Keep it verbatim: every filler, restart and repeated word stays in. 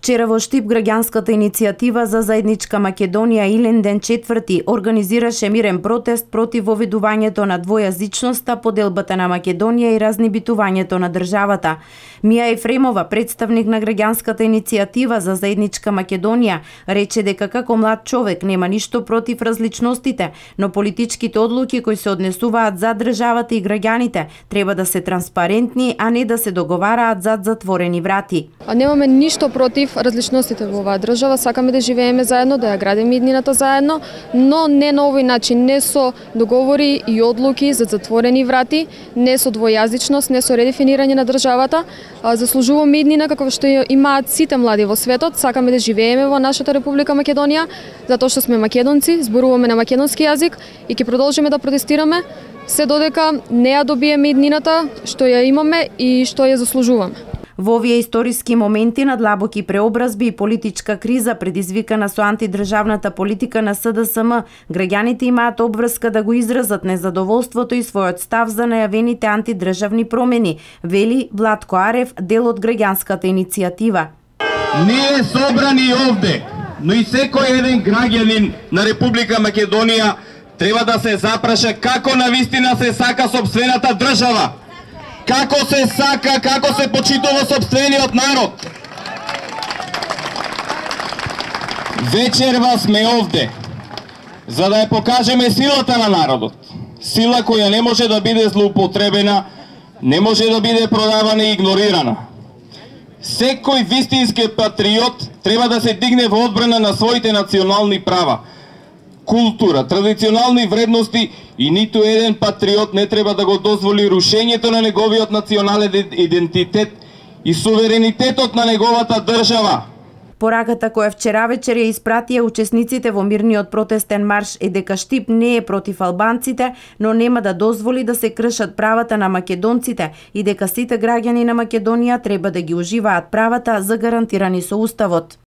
Вчера во Штип граѓанската иницијатива за заедничка Македонија Илинден четврти организираше мирен протест против воведувањето на двојазичноста, поделбата на Македонија и разнебитувањето на државата. Мија Ефремова, представник на граѓанската иницијатива за заедничка Македонија, рече дека како млад човек нема ништо против различностите, но политичките одлуки кои се однесуваат за државата и граѓаните треба да се транспарентни, а не да се договараат зад затворени врати. А немаме ништо против различностите во оваа држава, сакаме да живееме заедно, да ја градиме иднината заедно, но не на овој начин, не со договори и одлуки за затворени врати, не со двојазичност, не со редефинирање на државата. Заслужуваме иднина како што имаат сите млади во светот, сакаме да живееме во нашата Република Македонија, затоа што сме македонци, зборуваме на македонски јазик и ќе продолжиме да протестираме се додека не ја добиеме иднината што ја имаме и што ја заслужуваме. Во овие историски моменти на длабоки преобразби и политичка криза предизвикана со антидржавната политика на С Д С М, граѓаните имаат обврска да го изразат незадоволството и својот став за најавените антидржавни промени, вели Владко Арев, дел од граѓанската иницијатива. Ние собрани овде, но и секој еден граѓанин на Република Македонија треба да се запраша како навистина се сака сопствената држава. Како се сака, како се почитува сопствениот народ. Вечерва сме овде, за да ја покажеме силата на народот. Сила која не може да биде злоупотребена, не може да биде продавана и игнорирана. Секој вистински патриот треба да се дигне во одбрана на своите национални права, култура, традиционални вредности и ниту еден патриот не треба да го дозволи рушењето на неговиот национален идентитет и суверенитетот на неговата држава. Пораката која вчера вечер ја испратија учесниците во мирниот протестен марш е дека Штип не е против албанците, но нема да дозволи да се кршат правата на македонците и дека сите граѓани на Македонија треба да ги уживаат правата загарантирани со Уставот.